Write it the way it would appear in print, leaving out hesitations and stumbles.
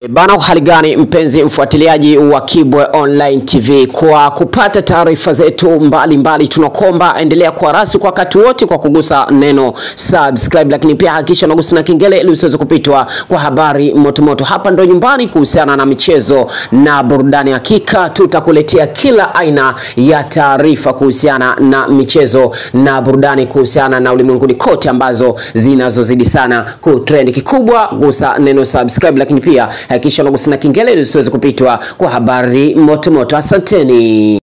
Bana, hali gani mpenzi mfuatiliaji wa Kibwe Online TV, kwa kupata taarifa zetu mbalimbali tunakomba endelea kuwa rasi kwa wakati wote kwa kugusa neno subscribe, lakini pia hakikisha unagusa na kengele ili usiweze kupitwa kwa habari motomoto. Hapa ndo nyumbani kuhusiana na michezo na burudani, hakika tutakuletea kila aina ya taarifa kuhusiana na michezo na burudani, kuhusiana na ulimwenguni kote ambazo zinazozidi sana kutrend. Kikubwa gusa neno subscribe, lakini pia hakikisha unagusa na kengele ili usiweze kupitwa kwa habari motomoto. Asanteni.